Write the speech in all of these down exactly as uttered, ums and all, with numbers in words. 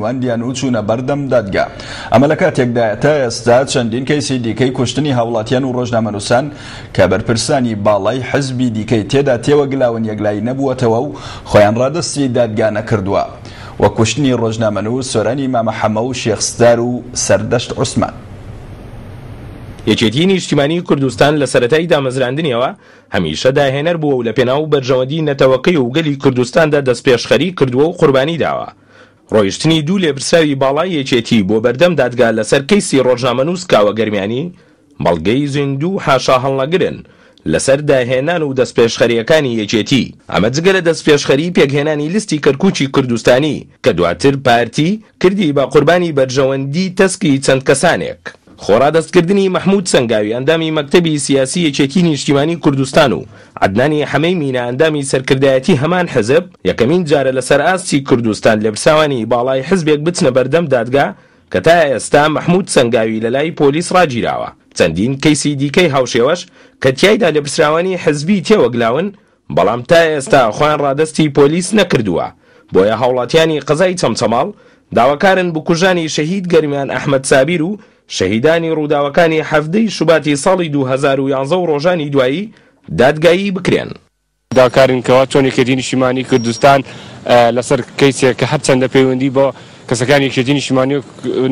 واندیان و چوونە بەردەم دادگا. ئەمە لە کاتێکدا تا ئێستا چەندین کەیسی دیکەی کوشتنی هاوڵاتیان و ڕۆژنامەنووسان کە بەرپرسانی باڵای حزبی دیکەی تێدا تێوەگلاون یەکلایی نەبووەتەوە و خۆیان ڕادەستی دادگا نەکردووە، وە کوشتنی ڕۆژنامەنووس سۆرانی مامە حەمە و شێخ ستار و سەردەشت عوسمان. یەکێتی نیشتیمانی کوردستان لە سەرەتای دامەزراندنیەوە هەمیشە داهێنەر بووە و لە پێناو بەرژەوەندی نەتەوەکەی و گەلی کوردستاندا دەستپێشخەری کردووە و قوربانی داوە. ڕۆیشتنی دوو لێپرسراوی باڵای یەکێتی بۆ بەردەم دادگا لەسەر کەیسی ڕۆژنامەنووس کاوە گەرمیانی بەڵگەی زیندوو و حاشا هەڵنەگرن لەسەر داهێنان و دەستپێشخەریەکانی یەکێتی. ئەمە جگە لە دەستپێشخەری پێکهێنانی لیستی کەرکووکی کوردستانی کە دواتر پارتی کردی بە قوربانی بەرژەوەندی تەسکی چەند کەسانێک. خۆڕادەستکردنی مەحمود سەنگاوی ئەندامی مەکتەبی سیاسی یەکێتی نیشتیمانی کوردستان و عەدنانی حەمەی مینا ئەندامی سەرکردایەتی هەمان حزب یەکەمین جارە لەسەر ئاستی کوردستان لێپرسراوانی باڵای حزبێک بچنە بەردەم دادگا کە تا ئێستا مەحمود سەنگاوی لەلای پۆلیس ڕاگیراوە. چەندین کەیسی دیکەی هاوشێوەش کە تیایدا لێپرسراوانی حزبی تێوەگلاون بەڵام تا ئێستا خۆیان ڕادەستی پۆلیس نەکردووە. بۆیە هاوڵاتیانی قەزای چەمچەماڵ داواکارن بکوژانی شەهید گەرمیان ئەحمەد سابیر و شەهیدانی ڕووداوەکانی حەفدەی شوباتی ساڵی دوو هەزار و یانزە و ڕۆژانی دوایی دادگایی بکرێن. داواکارین کەوا چۆن یەکێتی نیشتیمانی کوردستان لەسەر کەیسێک کە هەرچەندە پەیوەندی بۆ کەسەکانی یەکێتی نیشتیمانی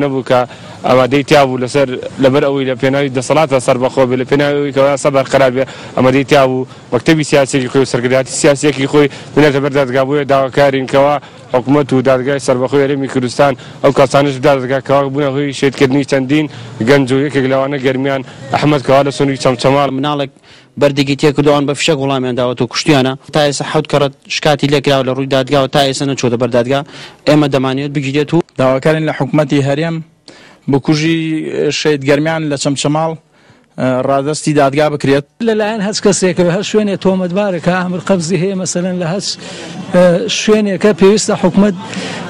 نەبوو کە ئامادەی تیا بوو لەسەر لەبەر ئەوەی لە پێناوی دەسەڵاتە سەربەخۆ بێ، لە پێناوی ئەوەی کەوا یاسا بەرقەرار بێ ئامادەی تیا بوو مەکتەبی سیاسیەکی خۆی و سەرکردایەتی سیاسیەکی خۆی بنێتە بەر دادگا. بۆیە داواکارین کەوا حکوومەت و دادگای سەربەخۆی هەرێمی کوردستان ئەو کەسانەش دادگا کەوا بوونە هۆی شەهیدکردنی چەندین گەنج و یەکێک لەوانە گەرمیان ئەحمەد کەوا لە سنووری چەمچەماڵ. مناڵێک بەردێکی تێکردووان بە فشەک وڵامیان داوەتەوە کوشتیانە. تا ئێستا حەوت کەڕەت شکاتی لێکراوە لە ڕووی دادگاوە، تا ئێستا نەچۆتە بەر دادگا. ئێمە دەمانێت بگیرێت و داواکارین لە حکوومەتی هەرێم بکوژی شەهید گەرمیان لە چەمچەماڵ ڕادەستی دادگا بکرێت. لەلایەن هەچ کەسێکەوە هەر شوێنێ تۆمەتبارە کە ئامر قەبزی هەیە، مەسەلەن لە هەچ شوێنێکە پێویستە حکوومەت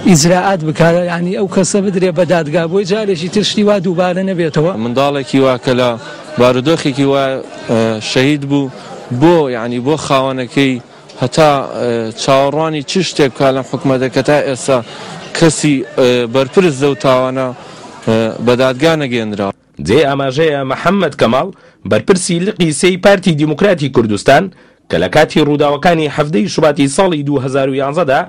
ئیجراعات بکات، یعنی ئەو کەسە بدرێ بە دادگا بۆی جارێکی تر شتی وا دووبارە نەبێتەوە. منداڵێکی وا کە لە بارودۆخێکی وا شەهید بوو بۆ یعنی بۆ خاوەنەکەی هەتا چاوەڕوانی چ شتێک بکات لەم حکوومەتە کە تا ئێستا کەسی بەرپرس لەو تاوانە بە دادگا نەگەیەندراوە. جێ ئاماژەیە محەممەد کەماڵ بەرپرسی لقی سێی پارتی دیموکراتی کوردستان کە لە کاتی ڕووداوەکانی حەفدەی شوباتی ساڵی دوو هەزار و یانزەدا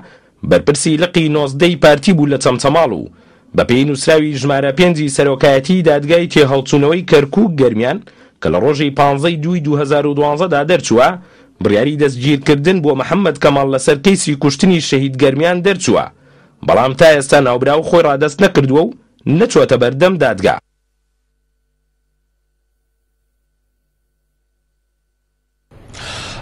بەرپرسی لقی نۆزدەی پارتی بوو لە چەمچەماڵ و بەپێی نووسراوی ژمارە پێنجی سەرۆکایەتی دادگای تێهەڵچوونەوەی کەرکووک گەرمیان کە لە ڕۆژی پانزەی دووی دوو هەزار و دوانزەدا دەرچووە بڕیاری دەستگیرکردن بۆ محەممەد کەماڵ لەسەر کەیسی کوشتنی شەهید گەرمیان دەرچووە، بەڵام تا ئێستا ناوبراو خۆی ڕادەست نەکردووە و نەچووەتە بەردەم دادگا.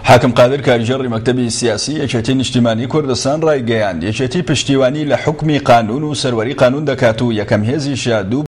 حاکم قادر کارگێڕی مەکتەبی سیاسی یەکێتی نیشتیمانی کوردستان ڕایگەیاند یەکێتی پشتیوانی لە حوکمی قانون و سەروەری قانون دەکات و یەکەم هێزیشە دوو